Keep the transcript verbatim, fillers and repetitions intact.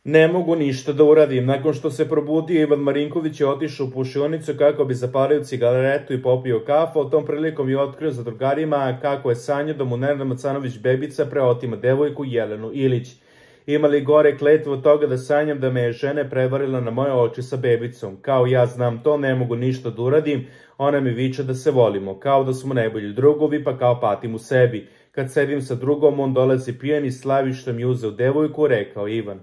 Ne mogu ništa da uradim. Nakon što se probudio, Ivan Marinković je otišao u pušionicu kako bi zapalio cigaretu i popio kafu. O tom prilikom je otkrio za drugarima kako je sanjao da mu Nenad Macanović Bebica preotima devojku Jelenu Ilić. Ima li gore kletvu od toga da sanjam da me je žena prevarila na moje oči sa bebicom? Kao ja znam to, ne mogu ništa da uradim, ona mi viče da se volimo, kao da smo najbolji drugovi, pa kao patim u sebi. Kad sedim sa drugom, on dolazi pijan i slavi što mi uzeo devojku, rekao Ivan.